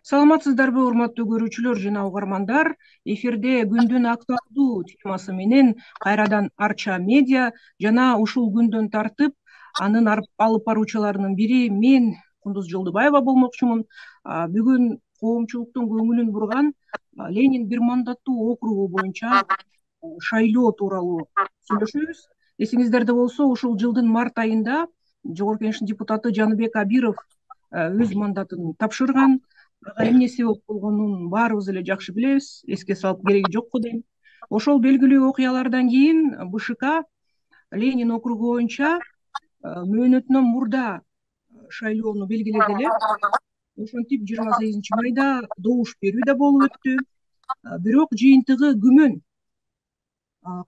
Саламатсыздарбы, урматтуу көрүүчүлөр жана угармандар. Эфирде күндүн актуалдуу темасы менен кайрадан Арча медиа жана ушул күндөн тартып анын алып баруучуларынын бири мен Кундуз Жолдубаева болмокчумун. Бүгүн коомчулуктун көңүлүн бурган Ленин бир мандаттуу округу боюнча шайлоо тууралуу сүйлөшөбүз. Эсиңиздерде болсо, ушул жылдын март айында Жогорку Кеңештин депутаты Жаныбек Абиров өз мандатын тапшырган. Эмне себеп болгонун баарыбыз эле жакшы билебиз, эске салып кереги жок го дейм. Ошол белгилүү окуялардан кийин БШК Ленин округу боюнча мөөнөтүнөн мурда шайлоону белгиледи эле. Ошентип 28 майда добуш берүү да болуп өттү. Бирок жыйынтыгы күмөн.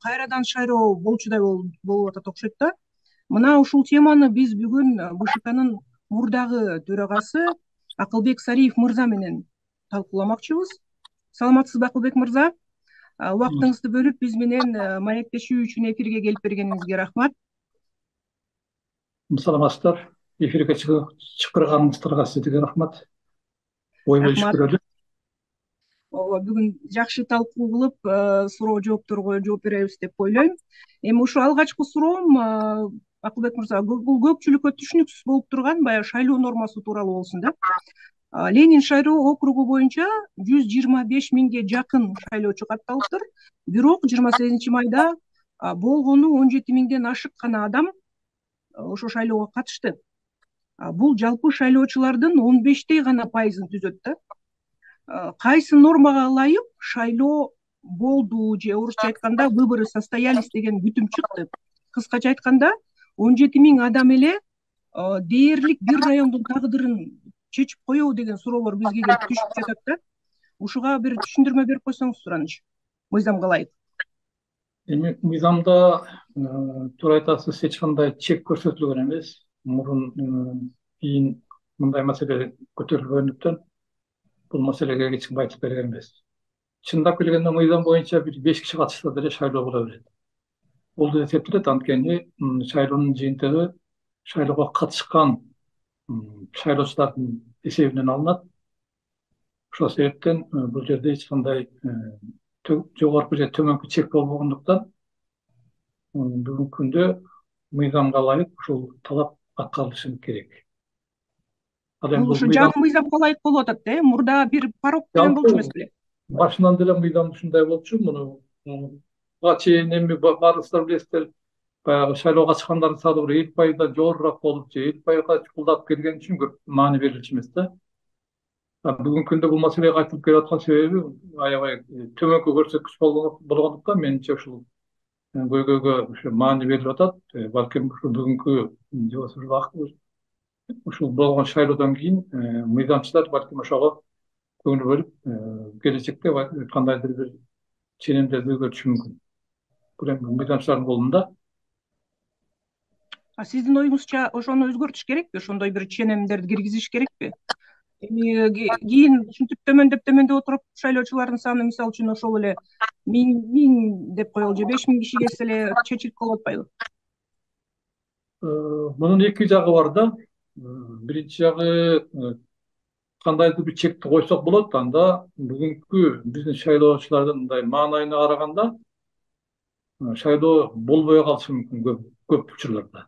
Кайрадан шайлоо болчудай болуп атат окшойт да. Мына ушул теманы биз бүгүн БШКнын мурдагы төрагасы Акылбек Сариев мырза менен талкууламакчыбыз. Саламатсызбы, Акылбек мырза? Убактыңызды бөлүп биз менен маектешүү үчүн эфирге келип бергениңизге рахмат. Саламатсыздар. Эфирге чакырганыңыздарга сизге рахмат. Ой бөлүшкүлөрү. Ооба, бүгүн жакшы талкуу кылып, суроо жоопторго жооп беребиз деп ойлойм. Эми ушу алгачкы суроом, Акылбек мырза, бул көпчүлүккө түшүнүксүз болуп турган баягы шайлоо нормасы тууралуу болсун да. Ленин шайлоо округу боюнча 125 миңге жакын шайлоочу катталыптыр. Бирок 28 майда болгону 17 миңден ашык гана адам ошо шайлоого катышты. Бул жалпы шайлоочулардын 15 гана пайызын түзөт да. Кайсы нормага ылайык шайлоо болду же орусча айтканда выборы состоялись деген бүтүм чыкты? Кыскача айтканда 17 миң адам эле дээрлик бир райондун тагдырын чечип коебу деген суроолор бизге келип түшүп жатат да. Ушуга бир түшүндүрмө берип койсоңуз сураныч. Мыйзамга ылайык. Эми мыйзамда туура айтасыз, эч кандай чек көрсөтүлгөн эмес. Мурун кийин мындай маселе көтөрүлгөндүктөн бул маселеге эч ким айтып берген эмес. Чындап келгенде мыйзам боюнча бир 5 киши катышса деле шайлоо боло берет. Болду эсептелет, анткени шайлоонун жыйынтыгы шайлоого катышкан шайлоочулардын эсебинен алынат. Ошол себептен бул жерде эч кандай жогорку же төмөнкү чек болбогондуктан бүгүнкү күндө мыйзамга ылайык ушул талап аткарылышы керек. Бул ушу жаңы мыйзамга ылайык болуп атат да, мурда бир парок деген болчу эмес беле? Башынан деле мыйзам ушундай болчу. Муну чейин эми баарыңыздар билесиздер, баягы шайлоого катышкандардын саны бир 50% жогорураак болуп же 50% чукулдап келген үчүн көп маани берилчү эмес да. Бүгүнкү күндө бул маселеге кайтып келип аткан себеби аябай төмөнкү көрсөткүч болгондуктан менимче ушул көйгөйгө ушу маани берилип атат. Балким ушу бүгүнкү ушул болгон шайлоодон кийин мыйзамчылар балким ошого көңүл бөлүп келечекте кандайдыр бир ченемдерди өзгөртүшү мүмкүн. Бул эми мыйзамчылардын колунда. Сиздин оюңузча ошону өзгөртүш керекпи? Ошондой бир ченемдерди киргизиш керекпи? Эми кийин ушинтип төмөндөп отуруп шайлоочулардын саны мисалы үчүн ошол эле 1000 деп коелу же 5000 киши келсе эле чечилип калып атпайбы? Мунун эки жагы бар да. Биринчи жагы кандайдыр бир чекти койсок болот. Анда бүгүнкү биздин шайлоочулардын мындай маанайына караганда шайлоо болбой калышы мүмкүн көп учурларда.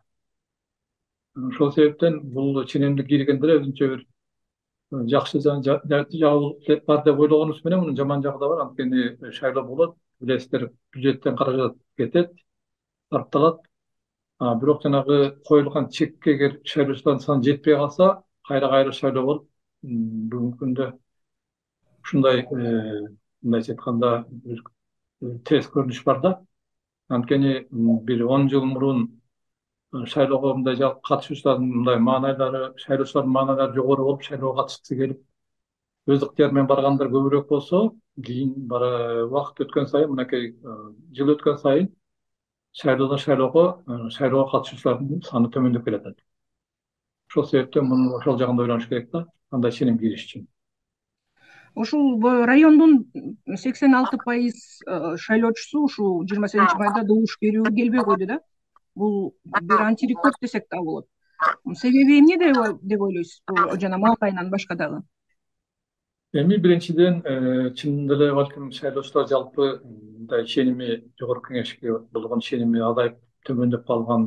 Ошол себептен бул ченемдик киргенде эле өзүнчө бир жакшы жагы бар деп ойлогонубуз менен мунун жаман жагы да бар. Анткени шайлоо болот, билесиздер, бюджеттен каражат кетет, сарпталат. Бирок жанагы коюлган чекке эгер шайлоочулардын саны жетпей калса, кайра шайлоо болуп, бүгүнкү күндө ушундай мындайча айтканда терс көрүнүш бар да. Анткени бир 10 жыл мурун шайлоого мындай катышуучулардын мындай маанайлары, шайлоочулардын маанайлары жогору болуп, шайлоого катышкысы келип, өз ыктыяры менен баргандар көбүрөөк болсо, кийин убакыт өткөн сайын, мынакей жыл өткөн сайын шайлоого катышуучулардын саны төмөндөп келатат. Ошол себептен муну ошол жагында ойлонуш керек да, кандай ченем кириш үчүн. Ушул райондун 86% шайлоочусу ушул 28 майда добуш берүүгө келбей койду да. Бул бир антирекорд десек да болот. Себеби эмне деп ойлойсуз? Жана мал айынан башка дагы. Эми биринчиден чынында эле балким шайлоочулар жалпы мындай ишеними жогорку кеңешке болгон ишеними азайып төмөндөп калган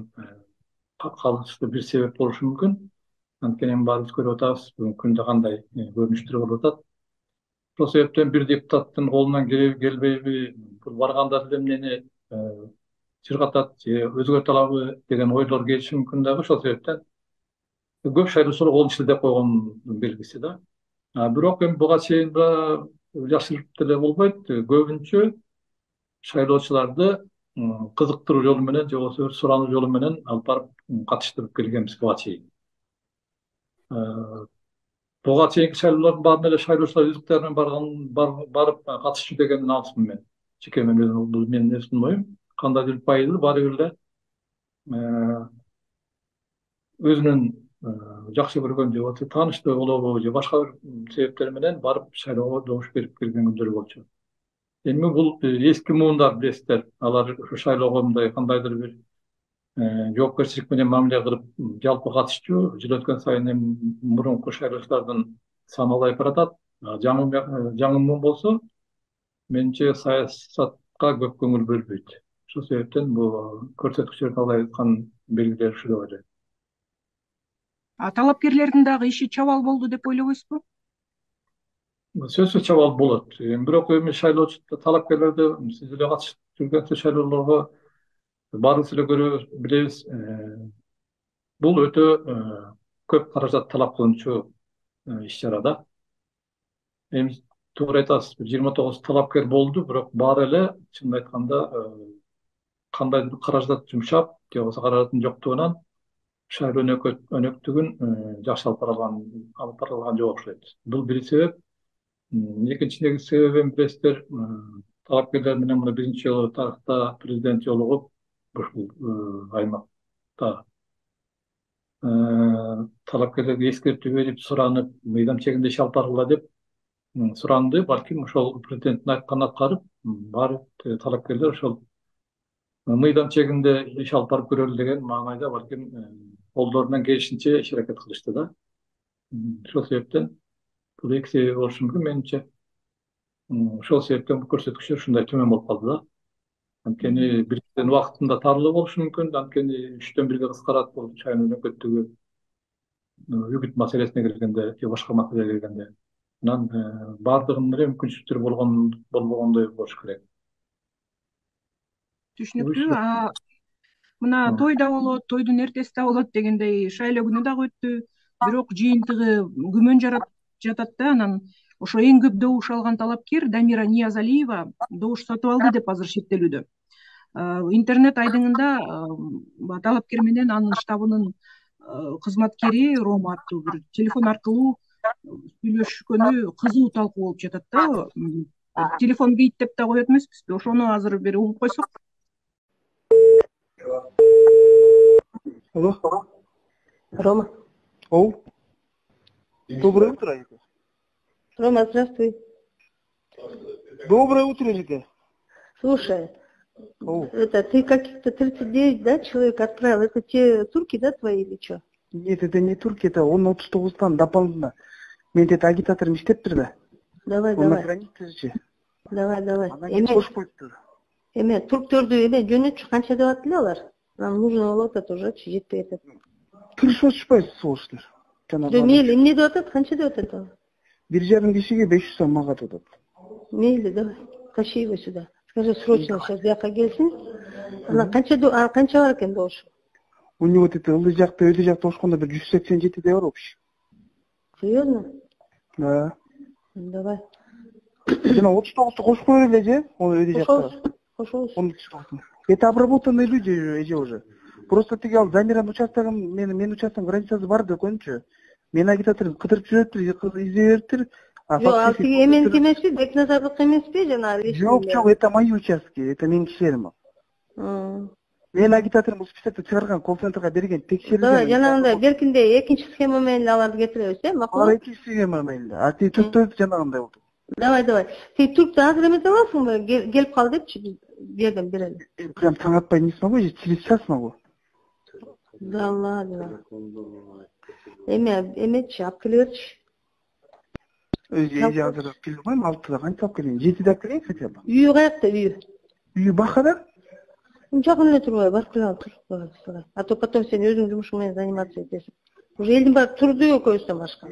калышты бир себеп болушу мүмкүн. Анткени эми баарыбыз көрүп атабыз бүгүнкү күндө кандай көрүнүштөр болуп атат. Ошол себептен бир депутаттын колунан келбейби, бул барганда деле эмнени чыргатат же өзгөртө алабы деген ойлор келиши мүмкүн дагы. Ошол себептен көп шайлоочулар колун шилтеп койгон белгиси да. Бирок эми буга чейин да жашырып деле болбойт. Көбүнчө шайлоочуларды кызыктыруу жолу менен же болбосо бир сурануу жолу менен алып барып катыштырып келгенбиз буга чейин. Буга чейинки шайлоолордун баарына эле шайлоочулар өз ыктыяры менен барып катышчу дегенден алысмын мен. Жеке менин өзүмдүн оюм. Кандайдыр бир пайызы баары бир эле өзүнүн жакшы көргөн же болбосо тааныштыгы болобу же башка бир себептер менен барып шайлоого добуш берип келген күндөр болчу. Эми бул эски муундар билесиздер, алар ушу шайлоого мындай кандайдыр бир жоопкерчилик менен мамиле кылып жалпы катышчу. Жыл өткөн сайын эми мурунку шайлоочулардын саны азайып баратат. Жаңы муун болсо менимче саясатка көп көңүл бөлбөйт. Ошол себептен бул көрсөткүчтөр азайып аткан белгилер ушул деп ойлойм. Талапкерлердин дагы иши чабал болду деп ойлобойсузбу? Сөзсүз чабал болот. Бирок эми шайлоочу талапкерлерди сиз эле катышып жүргөн шайлоолорго баарыбыз эле көрөбүз, билебиз. Бул өтө көп каражат талап кылынчу иш-чара да. Эми туура айтасыз, 29 талапкер болду, бирок баары эле чынын айтканда кандайдыр бир каражат жумшап, же болбосо каражаттын жоктугунан шайлоо өнөктүгүн жакшы алып бара алган жок окшойт. Бул бир себеп. Экинчи негизги себебин билесиздер, талапкерлер менен мына биринчи жолу тарыхта президент жолугуп ушул аймакта талапкерлерге эскертүү берип, суранып, мыйзам чегинде иш алып баргыла деп суранды. Балким ошол президенттин айтканын аткарып, баары талапкерлер ошол мыйзам чегинде иш алып барып көрөлү деген маанайда балким колдорунан келишинче иш аракет кылышты да. Ошол себептен бул эки себеби болушу мүмкүн менимче. Ошол себептен бул көрсөткүчтөр ушундай төмөн болуп калды да. Анткени бирден убактында тарлоо болушу мүмкүн, анткени 3-төн 1-ге кыскарат бул шайлоо өнөкөттүгү үгүт маселесине келгенде же башка маселеге келгенде. Анан баардыгынын эле мүмкүнчүлүктөрү болбогондой болуш керек. Түшүнүктүү. Мына той да болот, тойдун эртеси да болот дегендей шайлоо күнү дагы өттү. Бирок жыйынтыгы күмөн жаратып жатат да. Анан ошо эң көп добуш алган талапкер Дамира Ниязалиева добуш сатып алды деп азыр шектелүүдө. Интернет айдыңында талапкер менен анын штабынын кызматкери Рома аттуу бир телефон аркылуу сүйлөшкөнү кызуу талкуу болуп жатат да. Телефон бейиттеп да коет эмеспизби? Ошону азыр бир угуп койсок. Алло. Рома. Оу. Доброе утро, Ека. Рома, здравствуй. Доброе утро, Ека. Слушай, Оу. ты каких-то 39, да, человек отправил? Это те турки, да, твои или что? Нет, это не турки, это он 39-тан дополнительно. Мен это агитаторым иштептир да. Давай, Он на давай. границе же. Давай. Анан кош коюптур. Эме, турктөрдү эле жөнөтчү канча деп атты эле алар? Нам нужно болуп атат уже, жетпей атат. Кырышып атышпайбы соғыштыр? Мейли, эмне деп атат? Канча деп атат ал? 1,5 кишиге 500 сом мага атат. Мейли, давай. Тащи его сюда. Скажи, срочно сейчас жака келсин. Анан канча бар экен добуш? У него вот это ылдый жакта, өйдө жакта ошкондо бир 187 бар общий. Серьезно? Да. Давай. Жана 39-ту кошуп коелу эле же? Ол өйдө жакта. Кошобуз. Это обработанные люди эже уже. Просто тиги ал Замиранын участогун, менин участогум границасы бар деп койчу. Мен агитаторум кыдырып жүрөптүр, издеп бериптир. Жок, ал тиги эменики эмеспи? Бекназардык эмеспи жана? Жок, это мои участки, это менин кишилерим. Мен агитаторум списокто чыгарган, колл-центрге берген, текшерилген. Давай, жанагындай беркинде экинчи схема менен аларды кетиребиз, макул? Алар экинчи схема менен. А ти түртөп жанагындай болду. Давай. Ти туркты азыр эмете аласыңбы? Келип кал депчи, бердим берели. Прям таң атпай не смогу, через час могу. Да ладно. Эмечи, алып келе берчи. эже азыр келе койм, 6-да канча алып келейин? 7-де алып келейин хотя бы. Үйү каякта үйү? Үйү Бакада? Жакын эле турбайбы? Барып келе алып. А то потом сен өзүң жумушуң менен заниматься этесиң. Уже элдин баары турду экөөбүздөн башка.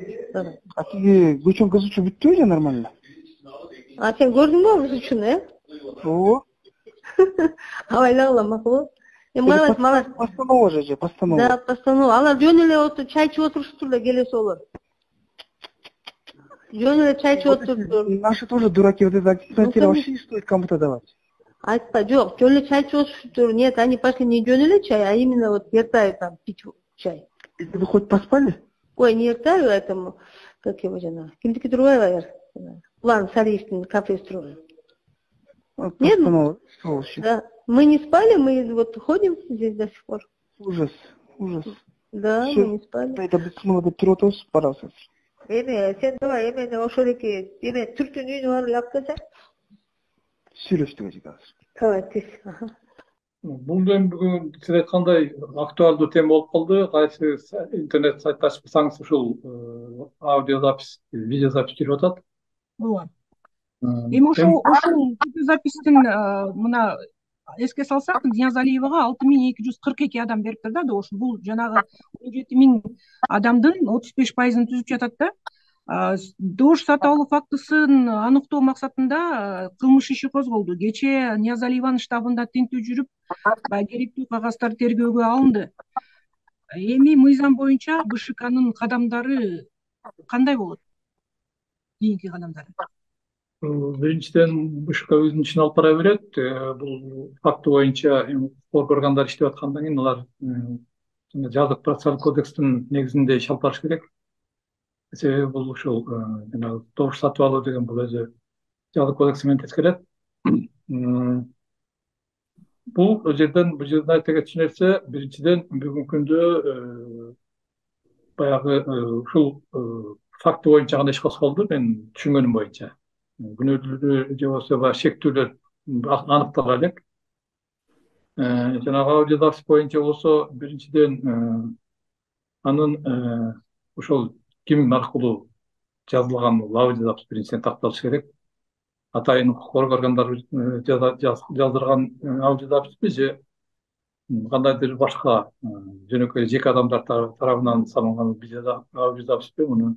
А тиги көчөң кызычы бүттүбү же нормально? А сен көрдүңбү кыз үчүн, Ооба. Абайлагыла макул. Малаш. Постанова же, постанова. Да, постанова. Алар жөн эле чай ичип отуруштур эле келесе болор. Жөн эле чай ичип отуруптур. Наши тоже дураки, вот это аттестатировать вообще не стоит кому-то давать. Айтпа, жок, жөн эле чай ичип отуруштур. Нет, они пошли не жөн эле чай, а именно вот Ертаев там пить чай. Это вы хоть поспали? Ой, не Ертаев, этому, как его жена, кимдики другая, План Сариевскин кафе строил. Нет? Да. Мы не спали, мы вот ходим здесь до сих пор. Ужас, ужас. Да, мы не спали. Это бесценно деп туруп атабыз, барасыз. Сен давай, ошол эки, Түрктүн үйүнө барып алып келсең. Сүйлөштүк эже азыр. Давай, тез. Бул эми бүгүн сиз айткандай актуалдуу тема болуп калды. Кайсы интернет сайт ачып барсаңыз ушул аудиозапись, видеозапись жүрүп атат. Ооба. Эми ушул видеозапистин мына эске салсак, Ниязалиевага 6242 адам бериптир да, добуш. Бул жанагы 17000 адамдын 35%-ын түзүп жатат да. Добуш сатып алуу фактысын аныктоо максатында кылмыш иши козголду. Кечээ Ниязалиеванын штабында тинтүү жүрүп, керектүү кагаздар тергөөгө алынды. Эми мыйзам боюнча БШКнын кадамдары кандай болот? Кийинки кадамдары? Биринчиден, БШК өзүнүн ишин алып бара берет. Бул факты боюнча укук органдары иштеп аткандан кийин алар жазык процессуалдык кодекстин негизинде иш алып барыш керек. Себеби бул ушул добуш сатып алуу деген бул өзү жазык кодекси менен тескерет. Бул жерден айта кетчү нерсе, биринчиден бүгүнкү күндө баягы ушул факты боюнча кандай иш козголду, мен түшүнгөнүм боюнча күнөөлүү же болбосо шектүүлөр аныктала элек. Жанагы аудиозапись боюнча болсо, биринчиден анын ошол ким аркылуу жазылган аудиозапись биринчиден такталыш керек. Атайын укук органдары жаздырган аудиозаписпи же кандайдыр башка жөнөкөй жеке адамдар тарабынан салынган аудиозаписпи, муну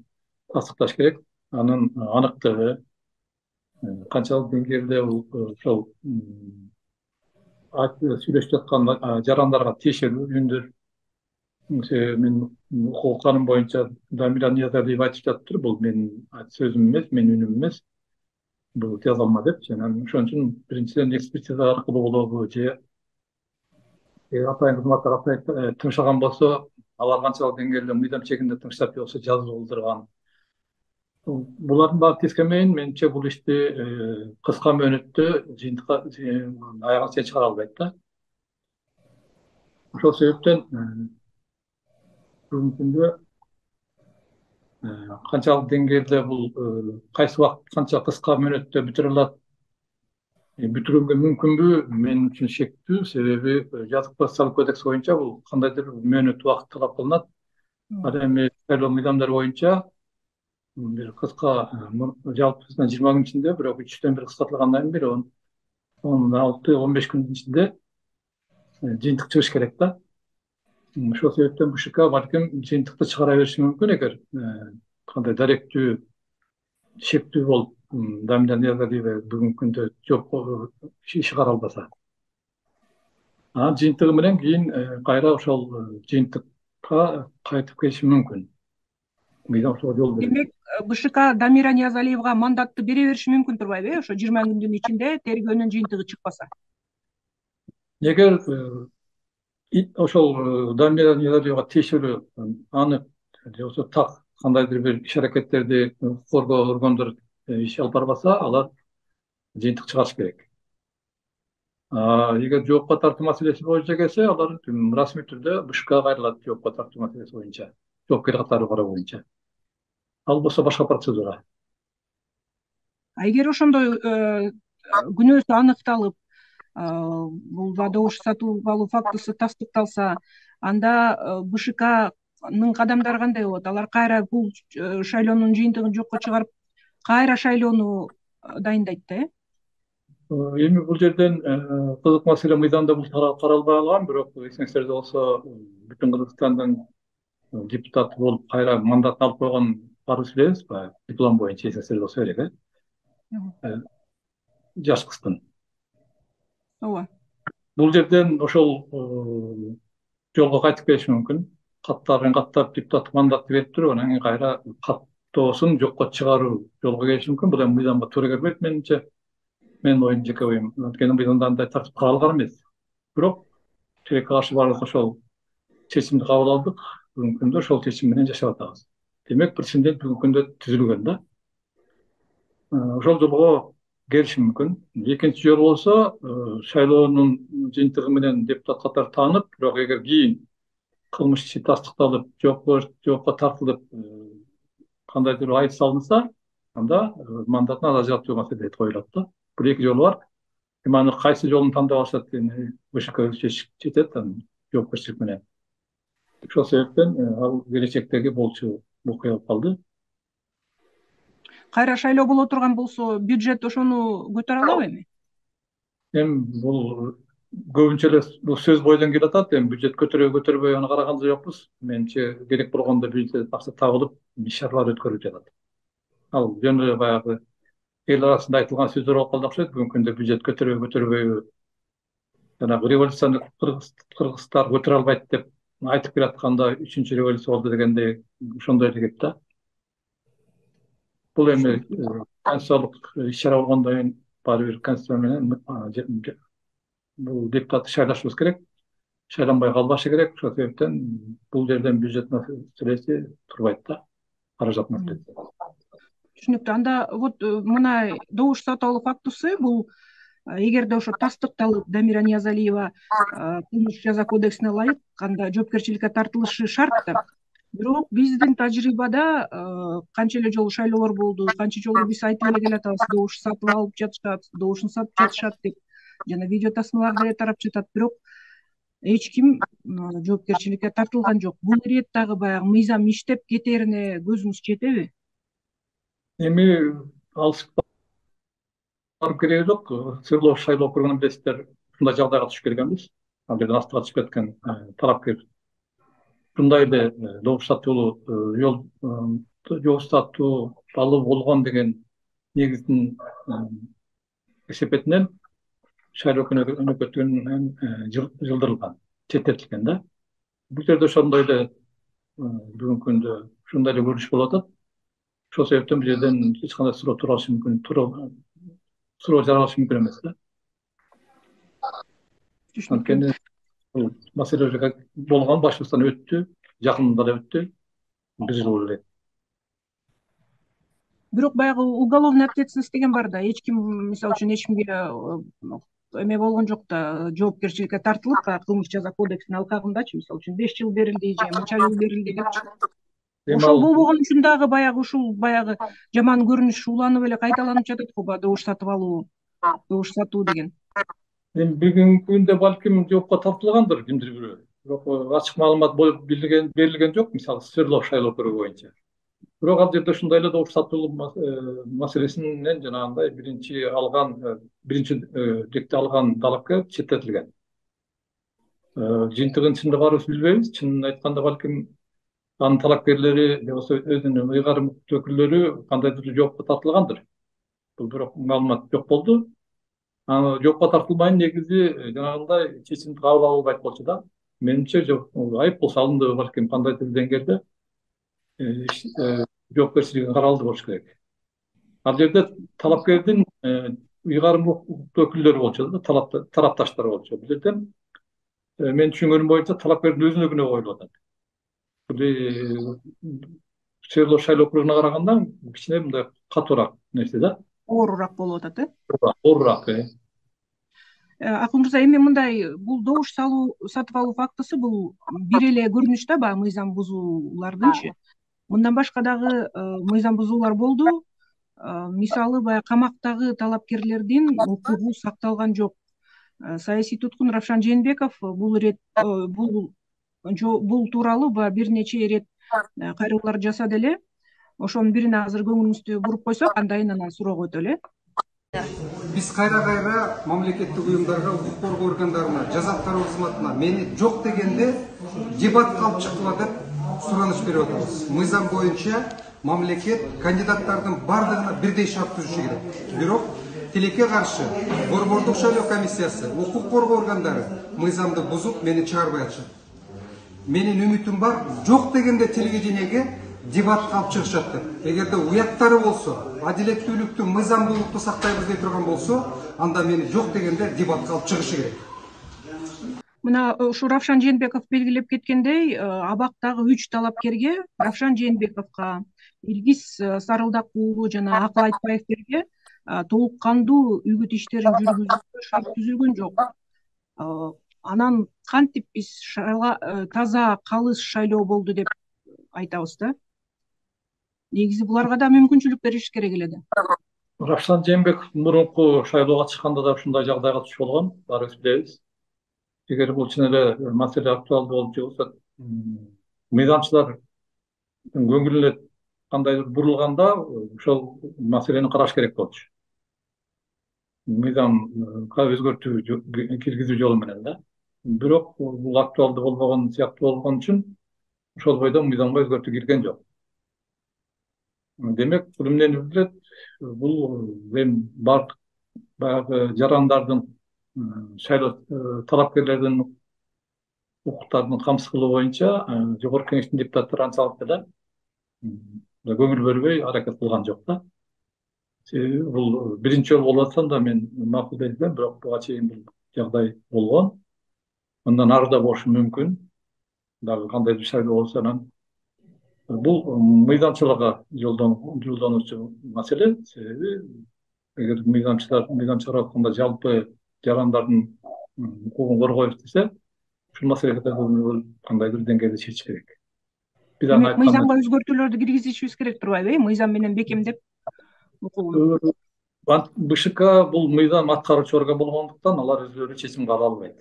тастыкташ керек. Анын аныктыгы канчалык деңгээлде ошол сүйлөшүп жаткан жарандарга тиешелүү үндүр. Мен укук канун боюнча Дамира Ниязалиева айтып жатыптыр, бул менин сөзүм эмес, менин үнүм эмес, бул жазалма деп. Ошон үчүн биринчиден экспертиза аркылуу болобу же атайын кызматтар тыңшаган болсо, алар канчалык деңгээлде мыйзам чегинде тыңшап же болбосо жазып олдурган. Булардын баары тескенмейин, менимче бул ишти кыска мөөнөттө жыйынтыкка аягына чейин чыгара албайт да. Ошол себептен бүгүнкү күндө канчалык деңгээлде бул кайсы убакыт канча кыска мөөнөттө бүтүрө алат, бүтүрүүгө мүмкүнбү, мен үчүн шектүү. Себеби жазык процессуалдык кодекс боюнча бул кандайдыр мөөнөт убакыт талап кылынат. Ал эми шайлоо мыйзамдары боюнча бир кыска жалпысынан 20 күн ичинде, бирок 3-төн 1 кыскартылгандан кийин 16-15 күндүн ичинде жыйынтык чыгыш керек да. Ошол себептен БШК балким жыйынтыкты чыгара бериши мүмкүн, эгер кандай даректүү шектүү болуп Дамира Ниязалиева бүгүнкү күндө жооп иш кара албаса. Жыйынтыгы менен кийин кайра ошол жыйынтыкка кайтып келиши мүмкүн. Мыйзам ошого жол берет. Демек, БШК Дамира Ниязалиевага мандатты бере бериши мүмкүн турбайбы, ошо 20 күндүн ичинде тергөөнүн жыйынтыгы чыкпаса? Эгер ошол Дамира Ниязалиевага тиешелүү аны же болбосо так кандайдыр бир иш аракеттерди коргоо органдары иш алып барбаса, алар жыйынтык чыгарыш керек. Эгер жоопко тартуу маселеси боюнча келсе, алар расмий түрдө БШКга кайрылат, жоопко тартуу маселеси боюнча, жоопкер катары кароо боюнча. Ал болсо башка процедура. Эгер ошондой күнөөсү аныкталып, бул добуш сатып алуу фактысы тастыкталса, анда БШКнын кадамдары кандай болот? Алар кайра бул шайлоонун жыйынтыгын жокко чыгарып кайра шайлоону дайындайт да, Эми бул жерден кызык маселе мыйзамда бул каралбай калган, бирок эсиңиздерде болсо бүтүн Кыргызстандын депутаты болуп кайра мандатын алып койгон барыбыз билебиз, баягы диплом боюнча эсиңиздерде болсо керек, жаш кыздын. ооба. Бул жерден ошол жолго кайтып келиши мүмкүн. Каттарын каттап депутаттык мандатты берип туруп, анан кийин кайра каттоосун жокко чыгаруу жолго келиши мүмкүн. Бул эми мыйзамга туура келбейт менимче. Менин оюм, жеке оюм. Анткени мыйзамда андай тартип каралган эмес. Бирок тилекке каршы баардык ошол чечимди кабыл алдык. Бүгүнкү күндө ошол чечим менен жашап атабыз. Демек прецедент бүгүнкү күндө түзүлгөн да. Ошол жолго келиши мүмкүн. Экинчи жолу болсо шайлоонун жыйынтыгы менен депутат катары таанып, бирок эгер кийин кылмыш иши тастыкталып, жоопко тартылып, кандайдыр айып салынса, анда мандатын ажыратуу маселеси коюлат да. Бул эки жолу бар. Эми аны кайсы жолун тандап алышат дегени БШК чечип жетет, жоопкерчилик менен. Ошол себептен ал келечектеги болчу окуя болуп калды. Кайра шайлоо боло турган болсо, бюджет ошону көтөрө алабы эми? Эми бул көбүнчө эле бул сөз бойдон келип атат. Эми бюджет көтөрбөй аны караган да жокпуз. Менимче керек болгондо бюджет акча табылып, иш-чаралар өткөрүлүп жатат. Ал жөн эле баягы эл арасында айтылган сөздөр болуп калды окшойт. Бүгүнкү күндө бюджет көтөрбөйбү, жанагы революцияны кыргыздар көтөрө албайт деп айтып келатканда 3-чү революция болду дегендей ошондой эле кеп да. Бул эми конституциялык иш-чара болгондон кийин баары бир конституция менен бул депутатты шайлашыбыз керек. Шайланбай калбашы керек. Ошол себептен бул жерден бюджет маселеси турбайт да. Каражат маселеси. Түшүнүктүү. Анда вот мына добуш сатып алуу фактысы бул эгерде ошо тастыкталып Дамира Ниязалиева кылмыш жаза кодексине ылайык анда жоопкерчиликке тартылышы шарт да. Бирок биздин тажрыйбада канча эле жолу шайлоолор болду, канча жолу биз айтып эле келатабыз, добуш сатып алып жатышат, добушун сатып жатышат деп жана видео тасмалар деле тарап жатат. Бирок эч ким жоопкерчиликке тартылган жок. Бул ирет дагы баягы мыйзам иштеп кетерине көзүңүз жетеби? Эми алысып барып кереги жок. Сырлоо шайлоо округунан билесиздер, ушундай жагдайга түшүп келгенбиз. Ал жерден астыга түшүп кеткен талапкер ушундай эле добуш сатуу алуу болгон деген негиздин эсепетинен шайлоо өнөкөтүнөн жылдырылган, четтетилген да. Бул жерде ошондой эле бүгүнкү күндө ушундай эле көрүнүш болуп атат. Ошол себептен бул жерден эч кандай суроо туралышы мүмкүн, суроо жаралышы мүмкүн эмес да. Анткени бул маселе болгон башыбыздан өттү, жакында эле өттү, 1 жыл болду эле. Бирок баягы уголовный ответственность деген бар да. Эч ким, мисалы үчүн, эч кимге эме болгон жок да, жоопкерчиликке тартылып, кылмыш жаза кодексинин алкагындачы, мисалы үчүн 5 жыл берилди же мынча жыл берилди депчи. Ошол болбогон үчүн дагы баягы ушул баягы жаман көрүнүш уланып эле кайталанып жатат го, баягы добуш сатып алуу, добуш сатуу деген. Эми бүгүнкү күндө балким жоопко тартылгандыр кимдир бирөө. Бирок ачык маалымат берилген жок, мисалы Свердлов шайлоо округу боюнча. Бирок ал жерде ушундай эле добуш сатуу маселесинен жанагындай биринчи декте алган талапкер четтетилген. Жыйынтыгын чынында баарыбыз билбейбиз. Чынын айтканда балким анын талапкерлери же болбосо өзүнүн ыйгарым өкүлдөрү кандайдыр жоопко тартылгандыр. Бул бирок маалымат жок болду. Аны жоопко тартылбайын негизи жанагындай чечимди кабыл албайт болчу да. Менимче айып бул салынды, балким кандайдыр деңгээлде жоопкерчилиги каралды болуш керек. Ал жерде талапкердин ыйгарым өкүлдөрү болчу да, тарапташтары болчу. Бул жерден мен түшүнгөнүм боюнча талапкердин өзүнө күнөө коюлуп атат. Бул Свердлов шайлоо округуна караганда кичине мындай катуураак нерсе да. Оорураак болуп атат, Оорураак. Акын мырза, эми мындай бул добуш сатып алуу фактысы бул бир эле көрүнүш да, баягы мыйзам бузуулардынчы. Мындан башка дагы мыйзам бузуулар болду. Мисалы, баягы камактагы талапкерлердин укугу сакталган жок. Саясий туткун Равшан Жээнбеков бул тууралуу бир нече ирет кайрылуулар жасады эле. Ошонун бирине азыр көңүлүңүздү буруп койсок, андан кийин анан суроого өтөлү. Биз кайра мамлекеттик уюмдарга, укук коргоо органдарына, жаза аткаруу кызматына мени жок дегенде дебатка алып чыктыла деп сураныч берип атабыз. Мыйзам боюнча мамлекет кандидаттардын бардыгына бирдей шарт түзүшү керек. Бирок тилекке каршы борбордук шайлоо комиссиясы, укук коргоо органдары мыйзамды бузуп мени чыгарбай атышат. Менин үмүтүм бар, жок дегенде телевидениеге дебатка алып чыгышат деп. Эгерде уяттары болсо, адилеттүүлүктү, мыйзамдуулукту сактайбыз дей турган болсо, анда мени жок дегенде дебатка алып чыгышы керек. Мына ушу Равшан Жээнбеков белгилеп кеткендей, абактагы 3 талапкерге, Равшан Жээнбековго, Илгиз Сарылдакулу жана Акыл Айтбаевтерге толук кандуу үгүт иштерин жүргүзүүгө шарт түзүлгөн жок. Анан кантип биз таза, калыс шайлоо болду деп айтабыз да? Негизи буларга да мүмкүнчүлүк бериш керек эле да. Равшан Жээнбеков мурунку шайлоого чыкканда да ушундай жагдайга туш болгон, баарыбыз билебиз. Эгер бул чын эле маселе актуалдуу болуп жүрсө, мыйзамчылар көңүлүнө кандайдыр бурулганда ошол маселени караш керек болчу. Мыйзамга өзгөртүү киргизүү жолу менен да. Бирок бул актуалдуу болбогон сыяктуу болгон үчүн ошол бойдон мыйзамга өзгөртүү кирген жок. Демек, бул эмнени билдирет? Бул эми бардык баягы жарандардын, шайлоо талапкерлердин укуктарын камсыз кылуу боюнча Жогорку Кеңештин депутаттары анчалык эле көңүл бөлбөй аракет кылган жок да. Себеби бул биринчи жолу болуп атса да мен макулдойт элем, бирок буга чейин бул жагдай болгон. Мындан ары да болушу мүмкүн. Дагы кандайдыр шайлоо болсо анан бул мыйзамчылыкка жолдонуучу маселе. Себеби эгер мыйзамчылар айтканда жалпы жарандардын укугун коргойбуз десе, ушул маселеге кандайдыр деңгээлде чечиш керек. Биз аны айтканда мыйзамга өзгөртүүлөрдү киргизишибиз керек турбайбы? Мыйзам менен бекемдеп укугун. БШК бул мыйзам аткаруучу орган болгондуктан алар өздөрү чечим ала албайт.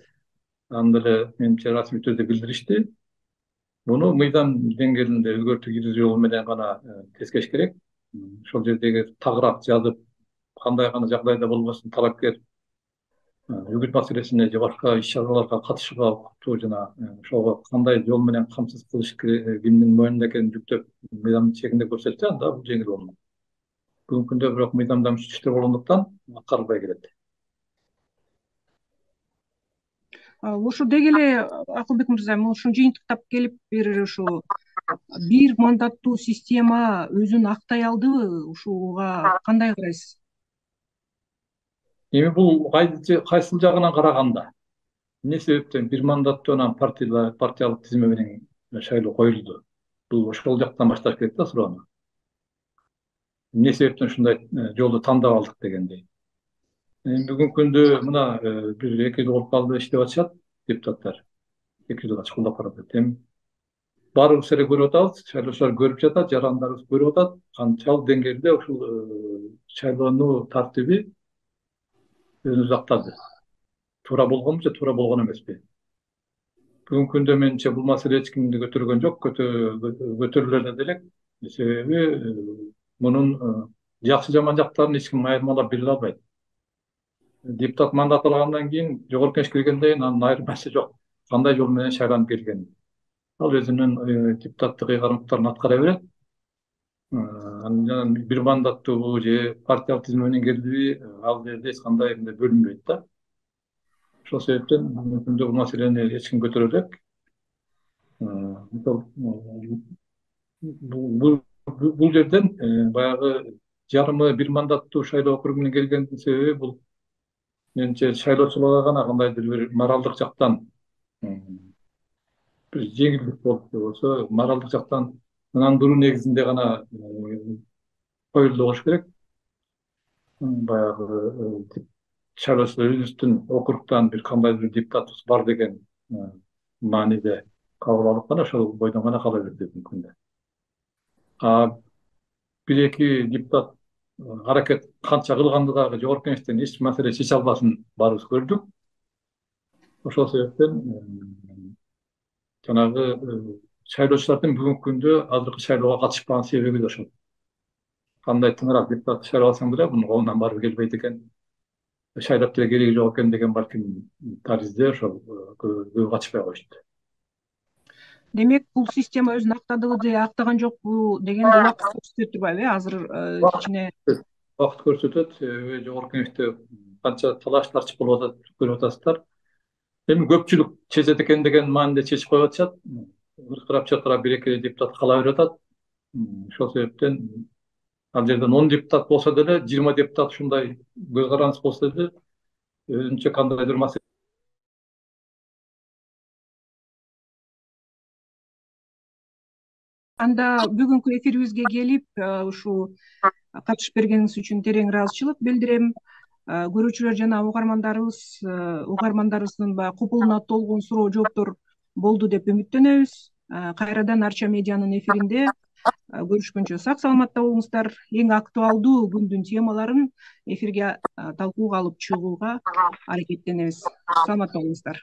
Аны деле менимче расмий түрдө билдиришти. Буну мыйзам деңгээлинде өзгөртүү киргизүү жолу менен гана тескеш керек. Ошол жердеги тагыраак жазып, кандай гана жагдайда болбосун талапкер үгүт маселесине же башка иш-чараларга катышууга укуктуу жана ошого кандай жол менен камсыз кылыш кимдин мойнунда экенин жүктөп мыйзам чегинде көрсөтсө, анда бул жеңил болмок. Бүгүнкү күндө бирок мыйзамдан үч иштер болгондуктан аткарылбай келет. Ушу деги эле Акылбек мырза, ушун жыйынтыктап келип бир ушу бир мандаттуу система өзүн актай алдыбы? Ушуга кандай карайсыз? Эми бул кайсыл жагынан караганда, эмне себептен бир мандаттуу анан партиялык тизме менен шайлоо коюлду? Бул ошол жактан башташ керек да суроону. Эмне себептен ушундай жолду тандап алдык дегендей. Бүгүнкү күндө мына бир 2 жыл болуп калды иштеп атышат депутаттар. 2 жылга чукулдап баратат. Эми баарыбыз эле көрүп атабыз, шайлоочулар көрүп жатат, жарандарыбыз көрүп атат, канчалык деңгээлде ушул шайлоонун тартиби өзүн актады. Туура болгонбу же туура болгон эмеспи? Бүгүнкү күндө менимче бул маселе эч кимди көтөргөн жок, көтөрүлөр да делек. Себеби мунун жакшы жаман жактарын эч ким айырмалап биле албайт. Депутат мандат алгандан кийин Жогорку Кеңешке киргенден кийин анын айырмасы жок. Кандай жол менен шайланып келген. Ал өзүнүн депутаттык ыйгарымдыктарын аткара берет. Анан бир мандаттуу же партиялык тизме менен келдиби, ал жерде эч кандай бөлүнбөйт да. Ошол себептен бүгүнкү күндө бул маселени эч ким көтөрө элек. Бул жерден баягы жарымы бир мандаттуу шайлоо округу менен келгендин себеби бул менимче шайлоочуларга гана кандайдыр бир моралдык жактан бир жеңилдик болуп болсо, моралдык жактан ынандыруу негизинде гана коюлду болуш керек. Баягы шайлоочулар өзүбүздүн округтан бир кандайдыр депутатыбыз бар деген мааниде кабыл алып гана ошол бойдон гана кала берди бүгүнкү күндө. Бир-эки депутат аракет канча кылганды дагы Жогорку Кеңештен эч маселе чече албасын баарыбыз көрдүк. Ошол себептен жанагы шайлоочулардын бүгүнкү күндө азыркы шайлоого катышпаган себеби да ошол. кандай тыңыраак депутат шайласаң деле мунун колунан барып келбейт экен, шайлап деле кереги жок экен деген балким таризде ошол көбү катышпай коюшат. Демек, бул система өзүн актадыбы же актаган жокпу дегенди убакыт көрсөтөт турбайбы? Азыр кичине Убакыт көрсөтөт. Жогорку кеңеште канча талаш тарчык болуп атат, көрүп атасыздар. Эми көпчүлүк чечет экен деген мааниде чечип коюп атышат. Ыркырап бир эки депутат кала берип атат. Ошол себептен ал жерден 10 депутат болсо деле, 20 депутат ушундай көз карандысыз болсо деле, өзүнчө кандайдыр маселе. Анда бүгүнкү эфирибизге келип, ушул катышып бергениңиз үчүн терең ыраазычылык билдирем. Көрүүчүлөр жана угармандарыбыздын баягы купулуна толгон суроо жооптор болду деп үмүттөнөбүз. Кайрадан Арча медианын эфиринде көрүшкөнчө сак саламатта болуңуздар. Эң актуалдуу күндүн темаларын эфирге талкууга алып чыгууга аракеттенебиз. Саламатта болуңуздар.